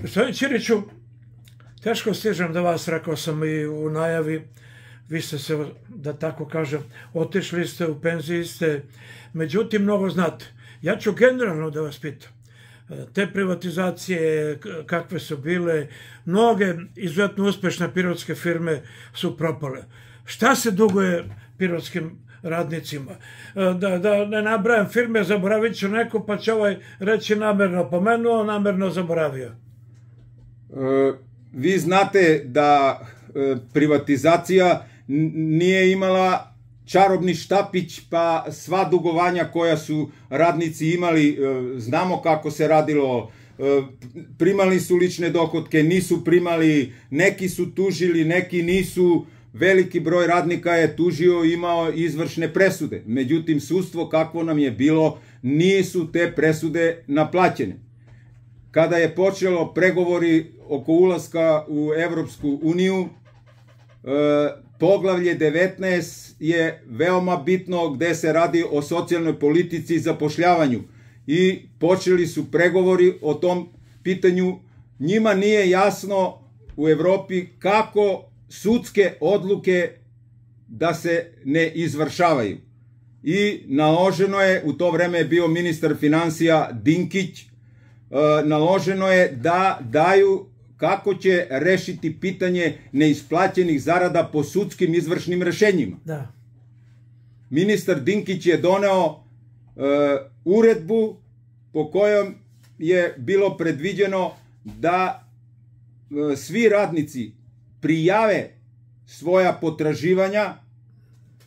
Gospodin Ćiriću, teško stižem do vas, rekao sam i u najavi, vi ste se, da tako kažem, otišli ste, u penziji ste, međutim mnogo znate. Ja ću generalno da vas pitam, te privatizacije kakve su bile, mnoge izuzetno uspešne pirotske firme su propale. Šta se duguje pirotskim radnicima? Da ne nabrajam firme, zaboravit ću neko, pa će ovaj reći namerno pomenuo, namerno zaboravio. Vi znate da privatizacija nije imala čarobni štapić, pa sva dugovanja koja su radnici imali, znamo kako se radilo, primali su lične dohotke, nisu primali, neki su tužili, neki nisu, veliki broj radnika je tužio, imao izvršne presude. Međutim, sudstvo kakvo nam je bilo, nisu te presude naplaćene. Kada je počelo pregovori oko ulaska u Evropsku uniju, poglavlje 19 je veoma bitno, gde se radi o socijalnoj politici i zapošljavanju. I počeli su pregovori o tom pitanju. Njima nije jasno u Evropi kako sudske odluke da se ne izvršavaju. I naloženo je, u to vreme je bio ministar finansija Dinkić, naloženo je da daju kako će rešiti pitanje neisplaćenih zarada po sudskim izvršnim rešenjima. Da. Ministar Dinkić je doneo uredbu po kojom je bilo predviđeno da svi radnici prijave svoja potraživanja,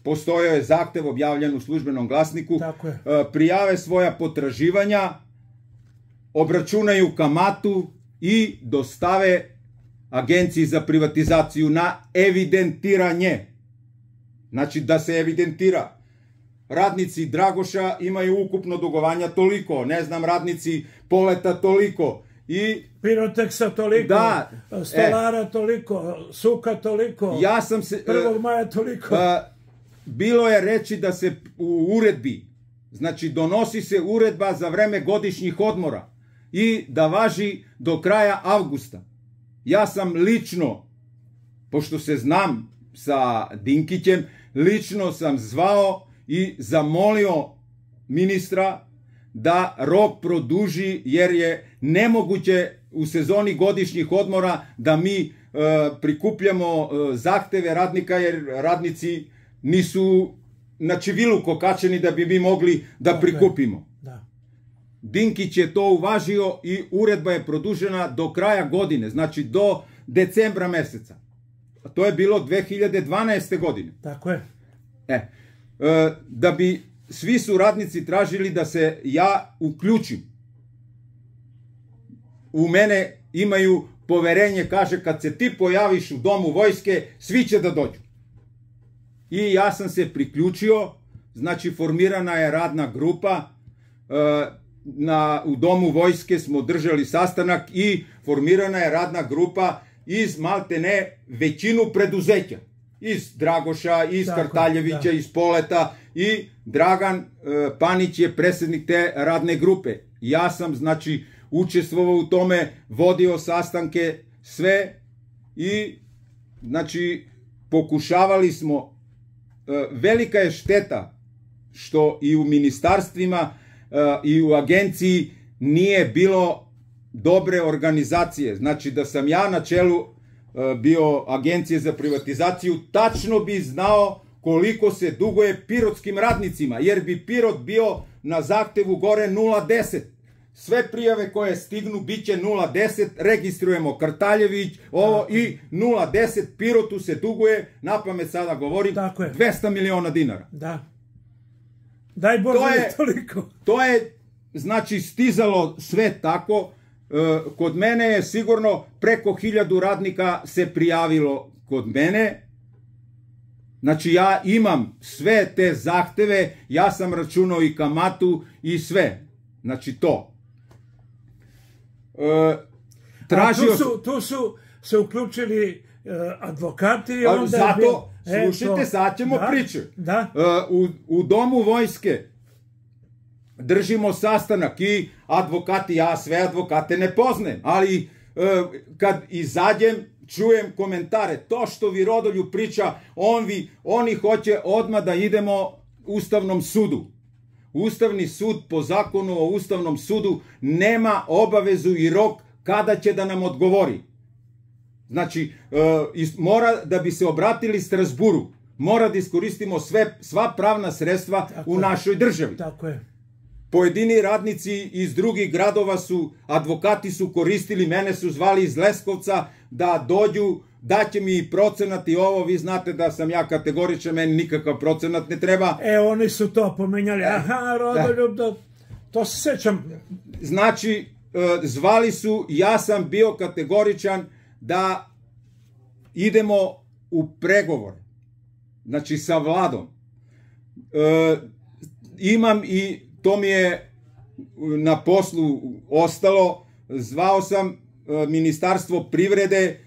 postojao je zahtev objavljen u Službenom glasniku, prijave svoja potraživanja, obračunaju kamatu i dostave Agenciji za privatizaciju na evidentiranje. Znači da se evidentira. Radnici Dragoša imaju ukupno dugovanja toliko, ne znam, radnici Poleta toliko. I Piroteksa toliko, Stolara toliko, Suka toliko, 1. maja toliko. Bilo je reči da se u uredbi, znači donosi se uredba za vreme godišnjih odmora i da važi do kraja avgusta. Ja sam lično, pošto se znam sa Dinkićem, lično sam zvao i zamolio ministra da rok produži, jer je nemoguće u sezoni godišnjih odmora da mi prikupljamo zahteve radnika, jer radnici nisu na čivilu kokačeni da bi mi mogli da prikupimo. Dinkić je to uvažio i uredba je produžena do kraja godine, znači do decembra meseca. To je bilo 2012. godine. Tako je. Da bi svi su radnici tražili da se ja uključim. U mene imaju poverenje, kaže, kad se ti pojaviš u Domu vojske, svi će da dođu. I ja sam se priključio, znači formirana je radna grupa, u Domu vojske smo držali sastanak i formirana je radna grupa iz maltene većinu preduzeća. Iz Dragoša, iz Kartaljevića, iz Poleta, i Dragan Panić je predsjednik te radne grupe. Ja sam, znači, učestvovao u tome, vodio sastanke, sve, i, znači, pokušavali smo. Velika je šteta što i u ministarstvima i u agenciji nije bilo dobre organizacije. Znači, da sam ja na čelu bio Agencije za privatizaciju, tačno bi znao koliko se duguje pirotskim radnicima, jer bi Pirot bio na zahtevu gore 0,10. Sve prijave koje stignu bit će 0,10, registrujemo Kartaljević, ovo, i 0,10 Pirotu se duguje, napamet sada govorim, 200 miliona dinara. Da. Daj Bože toliko. To je, znači, stizalo sve tako. Kod mene je sigurno preko 1000 radnika se prijavilo kod mene. Znači, ja imam sve te zahteve, ja sam računao i kamatu i sve. Znači, to. Tu su se uključili advokati. Zato, slušajte, sad ćemo pričati. U Domu vojske držimo sastanak i advokati, ja sve advokate ne poznajem, ali kad izađem, čujem komentare, to što vi Rodolju priča, oni hoće odmah da idemo Ustavnom sudu. Ustavni sud po zakonu o Ustavnom sudu nema obavezu i rok kada će da nam odgovori. Znači, mora da bi se obratili Strasburu, mora da iskoristimo sva pravna sredstva u našoj državi. Tako je. Pojedini radnici iz drugih gradova advokati su koristili, mene su zvali iz Leskovca da dođu, daće mi procenat i ovo, vi znate da sam ja kategoričan, meni nikakav procenat ne treba. Oni su to pomenjali, Rodoljub, to se sećam. Znači, zvali su, ja sam bio kategoričan da idemo u pregovor, znači sa vladom. Imam i to mi je na poslu ostalo, zvao sam Ministarstvo privrede,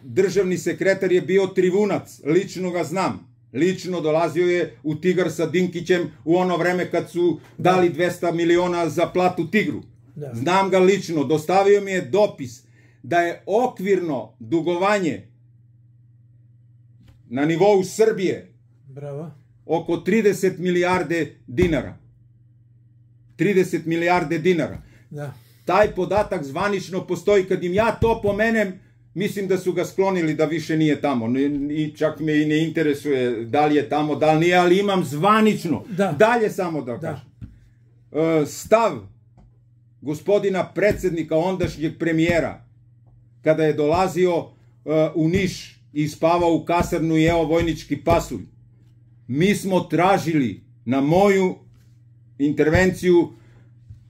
državni sekretar je bio Trivunac, lično ga znam, lično dolazio je u Tigar sa Dinkićem u ono vreme kad su dali 200 miliona za platu Tigru. Znam ga lično, dostavio mi je dopis da je okvirno dugovanje na nivou Srbije oko 30 milijarde dinara. 30 milijarde dinara. Taj podatak zvanično postoji. Kad im ja to pomenem, mislim da su ga sklonili da više nije tamo. I čak me i ne interesuje da li je tamo, da li nije, ali imam zvanično. Dalje samo da kažem. Stav gospodina predsednika, ondašnjeg premijera, kada je dolazio u Niš i spavao u kasarnu i jeo vojnički pasulj, mi smo tražili na moju intervenciju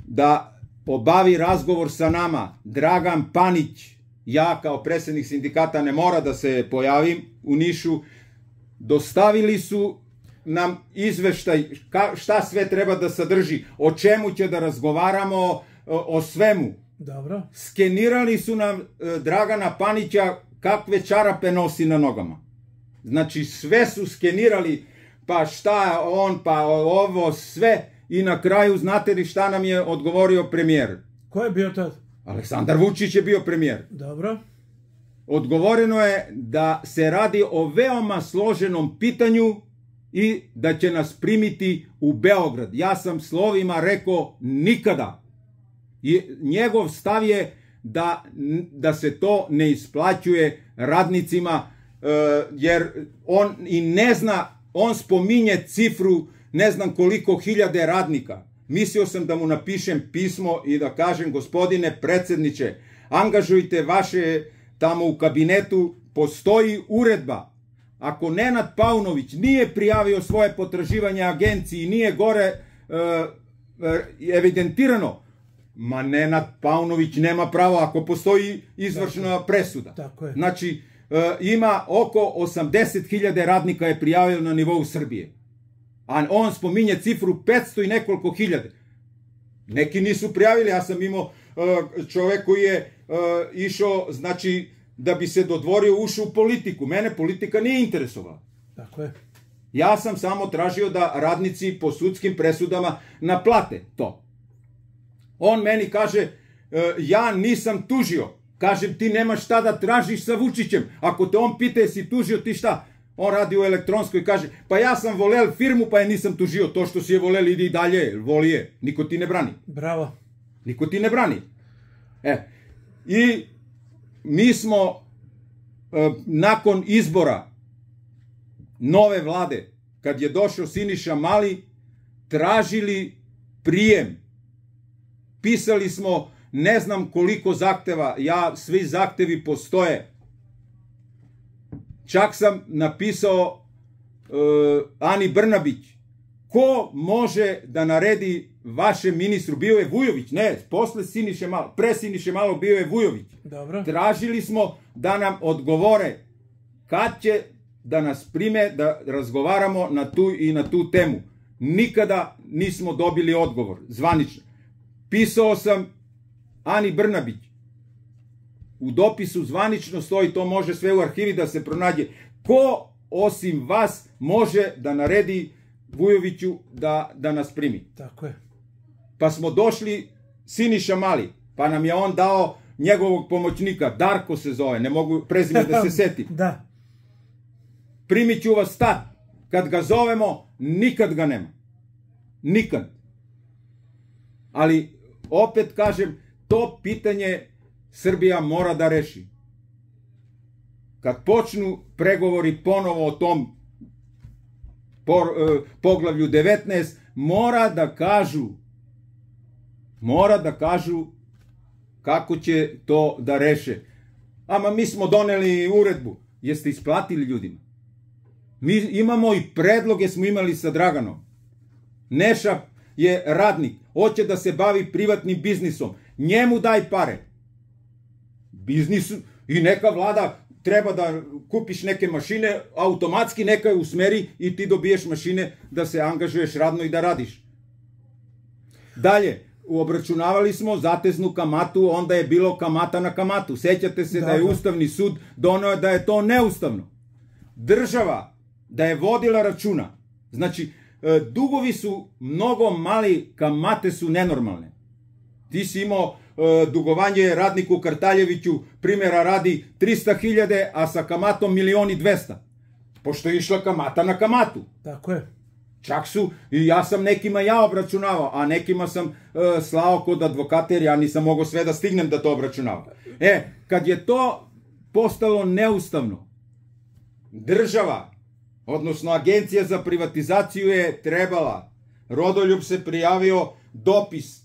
da obavi razgovor sa nama Dragan Panić. Ja kao predsednik sindikata ne mora da se pojavim u Nišu. Dostavili su nam izveštaj šta sve treba da sadrži, o čemu će da razgovaramo, o svemu. Dobro. Skenirali su nam Dragana Panića kakve čarape nosi na nogama. Znači sve su skenirali, pa šta on, pa ovo, sve. I na kraju, znate li šta nam je odgovorio premijer? Ko je bio tad? Aleksandar Vučić je bio premijer. Dobro. Odgovoreno je da se radi o veoma složenom pitanju i da će nas primiti u Beograd. Ja sam slovima rekao nikada. I njegov stav je da se to ne isplaćuje radnicima, jer on i ne zna, on spominje cifru ne znam koliko hiljade radnika. Mislio sam da mu napišem pismo i da kažem, gospodine predsedniče, angažujte vaše tamo u kabinetu, postoji uredba. Ako Nenad Paunović nije prijavio svoje potraživanje agenciji, nije gore evidentirano, ma Nenad Paunović nema pravo ako postoji izvršna presuda. Znači, ima oko 80.000 radnika je prijavio na nivou Srbije. A on spominje cifru 500 i nekoliko hiljade. Neki nisu prijavili, ja sam imao čovek koji je išao, znači, da bi se dodvorio, ušao u politiku. Mene politika nije interesovala. Tako je. Ja sam samo tražio da radnici po sudskim presudama naplate to. On meni kaže, ja nisam tužio. Kažem, ti nemaš šta da tražiš sa Vučićem. Ako te on pita jesi tužio, ti šta? On radi u elektronskoj i kaže, pa ja sam volel firmu pa je nisam tužio. To što si je volel ide i dalje, voli je. Niko ti ne brani. Bravo. Niko ti ne brani. I mi smo nakon izbora nove vlade, kad je došao Siniša Mali, tražili prijem. Pisali smo ne znam koliko zahteva, svi zahtevi postoje. Čak sam napisao Ani Brnabić, ko može da naredi vašem ministru, bio je Vujović, ne, posle Siniše Malo, pre Siniše Malo bio je Vujović. Dobro. Tražili smo da nam odgovore kad će da nas prime, da razgovaramo na tu i na tu temu. Nikada nismo dobili odgovor, zvanično. Pisao sam Ani Brnabić. U dopisu zvanično stoji, to može sve u arhivi da se pronađe. Ko osim vas može da naredi Vujoviću da nas primi? Tako je. Pa smo došli Siniša Mali, pa nam je on dao njegovog pomoćnika, Darko se zove, ne mogu prezime da se setim. Da. Primit ću vas tad. Kad ga zovemo, nikad ga nema. Nikad. Ali, opet kažem, to pitanje Srbija mora da reši. Kad počnu pregovori ponovo o tom poglavlju 19, mora da kažu kako će to da reše. Ama mi smo doneli uredbu. Jeste isplatili ljudima? Mi imamo i predloge, smo imali sa Draganom. Neša je radnik, hoće da se bavi privatnim biznisom. Njemu daj pare. Biznis i neka vlada treba da kupiš neke mašine, automatski neka je usmeri i ti dobiješ mašine da se angažuješ radno i da radiš. Dalje, obračunavali smo zateznu kamatu, onda je bilo kamata na kamatu. Sećate se da je Ustavni sud doneo da je to neustavno. Država da je vodila računa. Znači, dugovi su mnogo mali, kamate su nenormalne. Ti si imao dugovanje radniku Kartaljeviću, primjera radi 300.000, a sa kamatom 1.200.000. Pošto je išla kamata na kamatu. Tako je. Čak su, i ja sam nekima obračunavao, a nekima sam slao kod advokata, jer ja nisam mogao sve da stignem da to obračunavam. Kad je to postalo neustavno, država, odnosno Agencija za privatizaciju je trebala, Rodoljub se prijavio, dopis,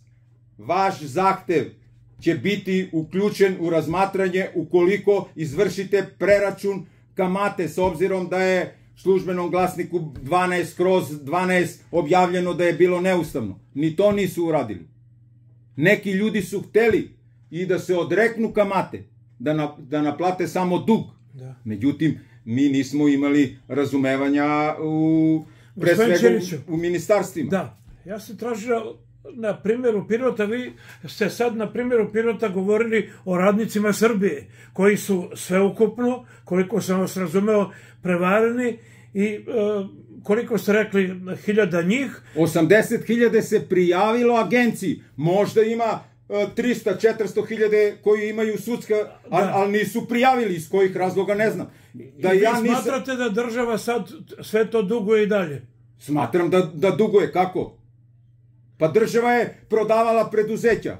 vaš zahtev će biti uključen u razmatranje ukoliko izvršite preračun kamate, s obzirom da je službenom glasniku 12/12 objavljeno da je bilo neustavno. Ni to nisu uradili. Neki ljudi su hteli i da se odreknu kamate, da naplate samo dug. Međutim, mi nismo imali razumevanja pre svega u ministarstvima. Da, ja sam tražio na primjeru Pirota, vi ste sad na primjeru Pirota govorili o radnicima Srbije, koji su sveukupno, koliko sam vas razumeo, prevareni i koliko ste rekli, 1000 njih. 80.000 se prijavilo agenciji, možda ima 300-400.000 koji imaju sudska, ali nisu prijavili, iz kojih razloga ne znam. I vi smatrate da država sad sve to duguje i dalje? Smatram da duguje, kako? Pa država je prodavala preduzeća.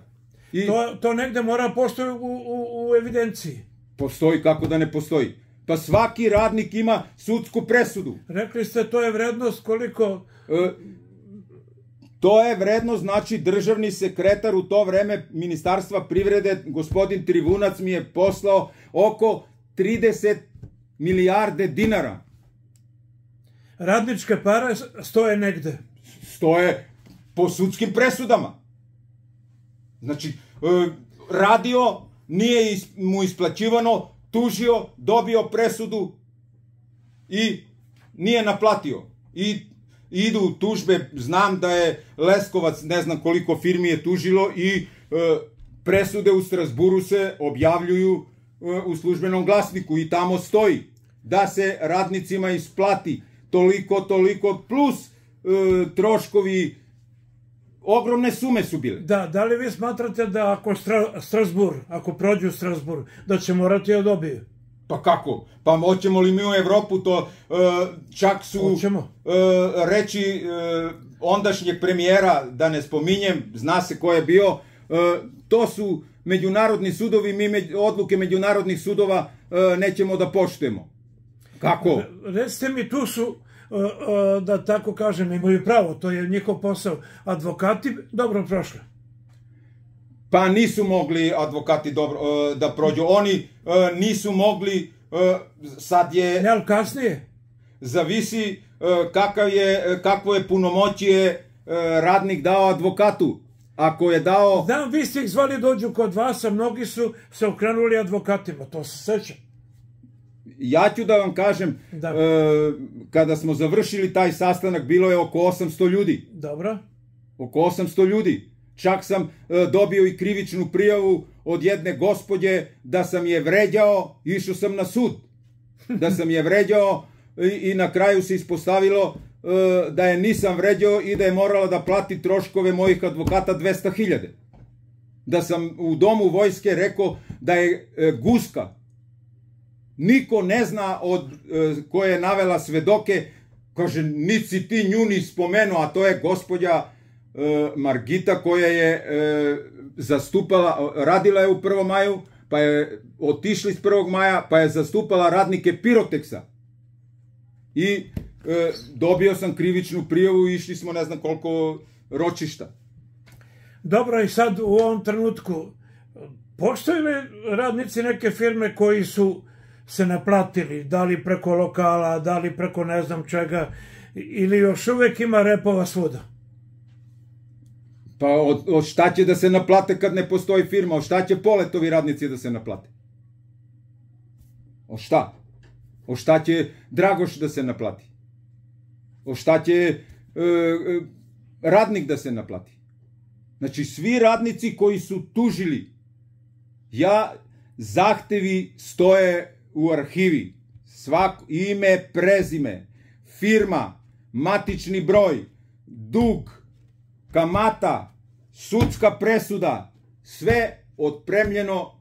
To negde mora postoji u evidenciji. Postoji, kako da ne postoji? Pa svaki radnik ima sudsku presudu. Rekli ste, to je vrednost koliko... To je vrednost, znači državni sekretar u to vreme Ministarstva privrede, gospodin Trivunac, mi je poslao oko 30 milijarde dinara. Radničke pare stoje negde? Stoje po sudskim presudama. Znači, radio, nije mu isplaćivano, tužio, dobio presudu i nije naplatio. I idu tužbe, znam da je Leskovac, ne znam koliko firmi je tužilo i presude u Strasburu se objavljuju u službenom glasniku i tamo stoji da se radnicima isplati toliko plus troškovi, ogromne sume su bile. Da li vi smatrate da ako prođu Strasbur, da će morati da dobiju? Pa kako? Pa hoćemo li mi u Evropu to, čak su reći ondašnjeg premijera, da ne spominjem, zna se ko je bio, to su međunarodni sudovi, mi odluke međunarodnih sudova nećemo da poštujemo. Kako? Recite mi, tu su, da tako kažem, imaju pravo, to je njihov posao, advokati dobro prošli. Pa nisu mogli advokati dobro da prođu. Oni nisu mogli, sad je... Ne, ali kasnije? Zavisi kakvo je punomoćje radnik dao advokatu. Ako je dao... Znam, vi ste ih zvali dođu kod vas, a mnogi su se okrenuli advokatima, to se sećam. Ja ću da vam kažem, kada smo završili taj sastanak, bilo je oko 800 ljudi. Dobro. Oko 800 ljudi. Čak sam dobio i krivičnu prijavu od jedne gospođe da sam je vređao, išao sam na sud. Da sam je vređao i na kraju se ispostavilo da je nisam vređao i da je morala da plati troškove mojih advokata 200.000. da sam u domu vojske rekao da je guska. Niko ne zna od koje je navela svedoke, kaže, niti si ti nju ni spomenuo, a to je gospođa Margita koja je zastupala, radila je u 1. maju, pa je otišla iz 1. maja, pa je zastupala radnike Piroteksa. I dobio sam krivičnu prijavu i išli smo ne znam koliko ročišta. Dobro, i sad u ovom trenutku postoje li radnici neke firme koji su se naplatili, da li preko lokala, da li preko ne znam čega, ili još uvek ima repova svuda? Pa od šta će da se naplate kad ne postoji firma? Od šta će Poletovi radnici da se naplate? Od šta? Od šta će Dragoš da se naplati? Od šta će radnik da se naplati? Znači, svi radnici koji su tužili, zahtevi stoje u arhivi. Ime, prezime, firma, matični broj, dug, kamata, sudska presuda, sve otpremljeno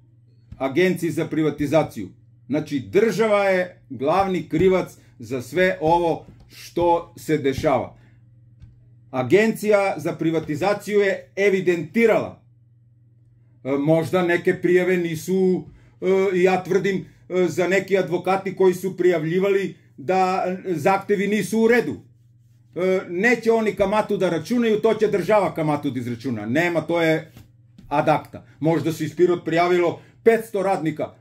Agenciji za privatizaciju. Znači, država je glavni krivac za sve ovo što se dešava. Agencija za privatizaciju je evidentirala. Možda neke prijave nisu, ja tvrdim, za neki advokati koji su prijavljivali da zahtevi nisu u redu. Neće oni kamatu da računaju, to će država kamatu da izračuna. Nema, to je ad acta. Možda se iz Pirot prijavilo 500 radnika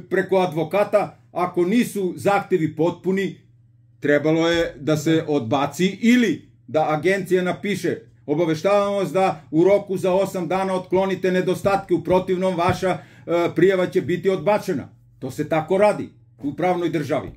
preko advokata, ako nisu zahtevi potpuni, trebalo je da se odbaci ili da agencija napiše: obaveštavamo vas da u roku za 8 dana otklonite nedostatke, u protivnom vaša prijava će biti odbačena. To se tako radi u pravnoj državi.